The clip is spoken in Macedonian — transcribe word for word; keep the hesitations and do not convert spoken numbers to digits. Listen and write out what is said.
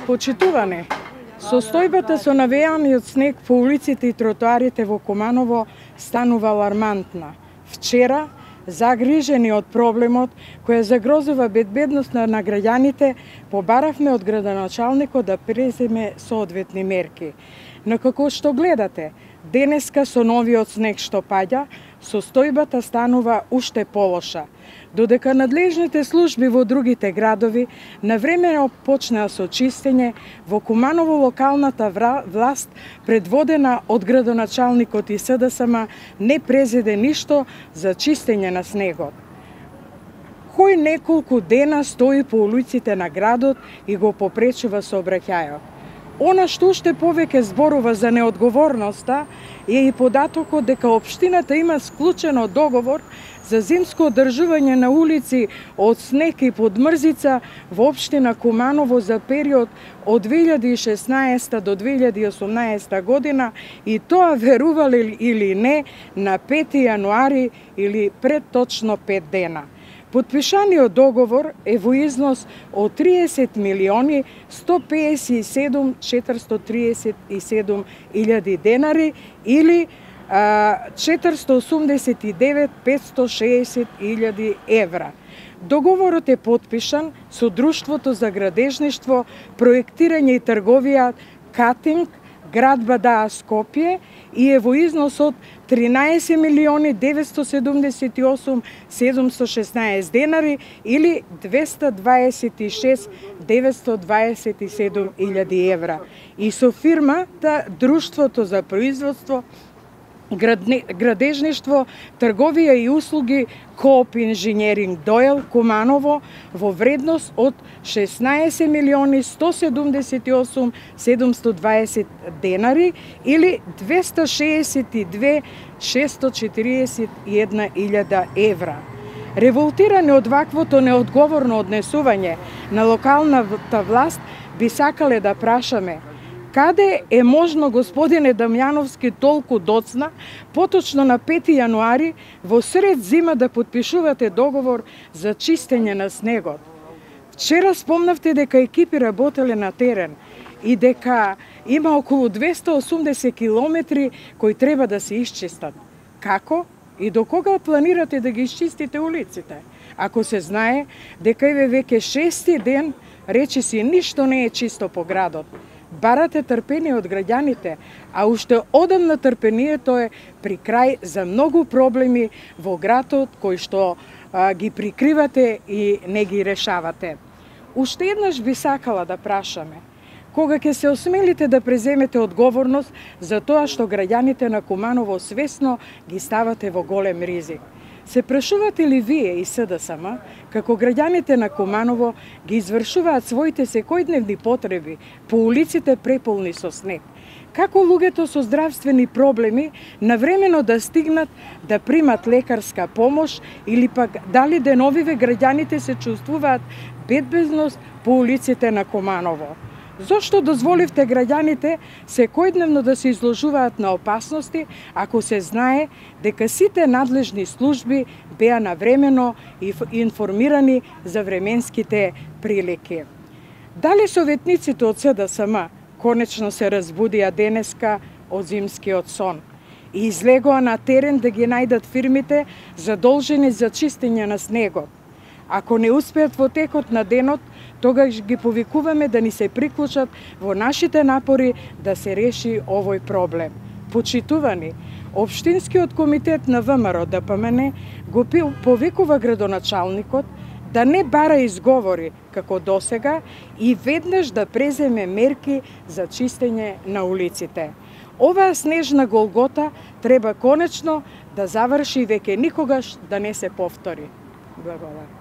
Почитувани, состојбата со навејаниот снег по улиците и тротоарите во Куманово станува алармантна. Вчера, загрижени од проблемот која загрозува безбедноста на граѓаните, побаравме од градоначалникот да преземе соодветни мерки. Но како што гледате, денеска со новиот снег што паѓа, состојбата станува уште полоша. Додека надлежните служби во другите градови навремено почнаа со чистење, во Куманово локалната власт, предводена од градоначалникот и СДСМ, не презеде ништо за чистење на снегот. Кој неколку дена стои по улиците на градот и го попречува сообраќајот. Она што уште повеќе зборува за неодговорноста е и податокот дека општината има склучено договор за зимско одржување на улици од снег и подмрзица во општина Куманово за период од две илјади и шеснаесета до две илјади и осумнаесета година, и тоа, верували или не, на пети јануари или пред точно пет дена. Подпишаниот договор е во износ од триесет милиони сто пеесет и седум четиристотини триесет и седум илјади денари или четиристотини осумдесет и девет петстотини шеесет илјади евра. Договорот е потпишан со Друштвото за градежништво, проектирање и трговија Катинг, град Бадаа, Скопје, и е во износ од тринаесет милиони деветстотини седумдесет и осум седумстотини шеснаесет денари или двеста дваесет и шест деветстотини дваесет и седум илјади евра. И со фирмата Друштвото за производство, градежништво, трговија и услуги Кооп инженеринг Дојел, Куманово, во вредност од шеснаесет милиони сто седумдесет и осум седумстотини дваесет денари или двеста шеесет и две шестоста четириесет и една илјада евра. Револтирани од ваквото неодговорно однесување на локалната власт, би сакале да прашаме: каде е можно, господине Дамјановски, толку доцна, поточно на пети јануари, во сред зима да потпишувате договор за чистење на снегот? Вчера спомнавте дека екипи работеле на терен и дека има околу двеста и осумдесет километри кои треба да се исчистат. Како и до кога планирате да ги исчистите улиците? Ако се знае дека еве веќе шести ден речиси ништо не е чисто по градот. Барате трпение од граѓаните, а уште одамна трпението е при крај за многу проблеми во градот кои што а, ги прикривате и не ги решавате. Уште еднаш би сакала да прашаме: кога ќе се осмелите да преземете одговорност за тоа што граѓаните на Куманово свесно ги ставате во голем ризик? Се прашувате ли вие и СДСМ како граѓаните на Куманово ги извршуваат своите секојдневни потреби по улиците преполни со снег? Како луѓето со здравствени проблеми навремено да стигнат да примат лекарска помош или пак дали деновиве граѓаните се чувствуваат безбедност по улиците на Куманово? Зошто дозволивте граѓаните секојдневно да се изложуваат на опасности, ако се знае дека сите надлежни служби беа навремено информирани за временските прилики? Дали советниците од СДСМ конечно се разбудија денеска од зимскиот сон и излегоа на терен да ги најдат фирмите задолжени за чистење на снегот? Ако не успеат во текот на денот, тогаш ги повикуваме да ни се приклучат во нашите напори да се реши овој проблем. Почитувани, Општинскиот комитет на ВМРО Д П М Н го повикува градоначалникот да не бара изговори како досега и веднаш да преземе мерки за чистење на улиците. Оваа снежна голгота треба конечно да заврши и веќе никогаш да не се повтори. Благодарам.